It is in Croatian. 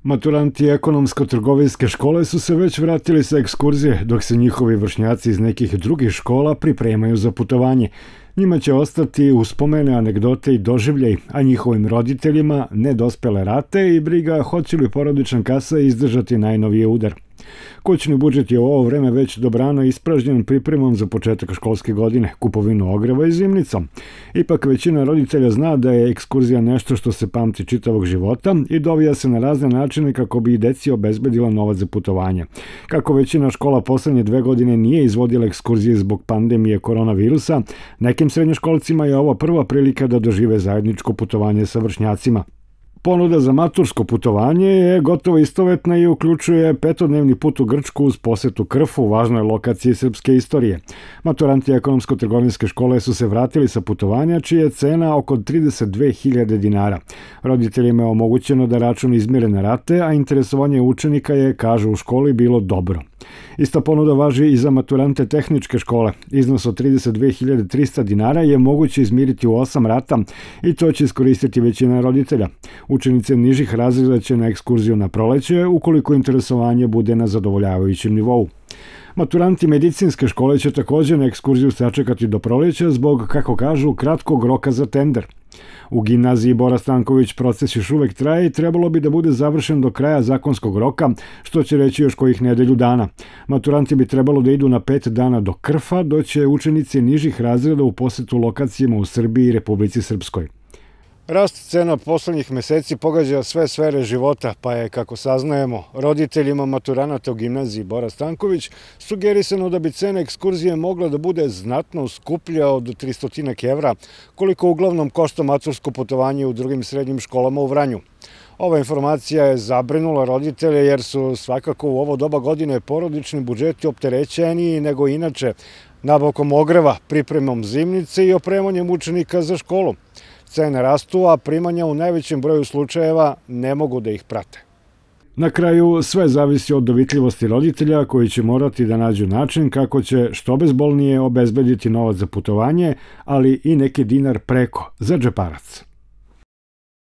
Maturanti ekonomsko-trgovinske škole su se već vratili sa ekskurzije, dok se njihovi vršnjaci iz nekih drugih škola pripremaju za putovanje. Njima će ostati uspomene, anegdote i doživljaj, a njihovim roditeljima nedospele rate i briga hoće li porodična kasa izdržati najnoviji udar. Kućni budžet je u ovo vreme već dobrano ispražnjen pripremom za početak školske godine, kupovinu ogreva i zimnicom. Ipak većina roditelja zna da je ekskurzija nešto što se pamti čitavog života i dovija se na razne načine kako bi i deci obezbedila novac za putovanje. Kako većina škola poslednje 2 godine nije izvodila ekskurzije zbog pandemije koronavirusa, nekim srednjoškolcima je ovo prva prilika da dožive zajedničko putovanje sa vršnjacima. Ponuda za matursko putovanje je gotovo istovetna i uključuje 5-dnevni put u Grčku uz posetu Krfu, važnoj lokaciji srpske istorije. Maturanti ekonomsko-trgovinske škole su se vratili sa putovanja, čija je cena oko 32.000 dinara. Roditeljima je omogućeno da račun izmire na rate, a interesovanje učenika je, kažu u školi, bilo dobro. Ista ponuda važi i za maturante tehničke škole. Iznos od 32.300 dinara je moguće izmiriti u 8 rata i to će iskoristiti većina roditelja. Učenice nižih razreda će na ekskurziju na proleće ukoliko interesovanje bude na zadovoljavajućem nivou. Maturanti medicinske škole će također na ekskurziju sačekati do proleća zbog, kako kažu, kratkog roka za tender. U gimnaziji Bora Stanković proces još uvek traje i trebalo bi da bude završen do kraja zakonskog roka, što će reći još kojih nedelju dana. Maturanti bi trebalo da idu na 5 dana do Krfa, dok će učenici nižih razreda u posetu lokacijama u Srbiji i Republici Srpskoj. Rast cena poslednjih meseci pogađa sve sfere života, pa je, kako saznajemo, roditeljima maturanata u gimnaziji Bora Stanković sugerisano da bi cena ekskurzije mogla da bude znatno skuplja od 300 evra, koliko uglavnom košta matursko putovanje u drugim srednjim školama u Vranju. Ova informacija je zabrinula roditelje jer su svakako u ovo doba godine porodični budžeti opterećeniji nego inače, nabavkom ogreva, pripremom zimnice i opremanjem učenika za školu. Cene rastu, a primanja u najvećem broju slučajeva ne mogu da ih prate. Na kraju, sve zavisi od dovitljivosti roditelja koji će morati da nađu način kako će što bezbolnije obezbediti novac za putovanje, ali i neki dinar preko za džeparac.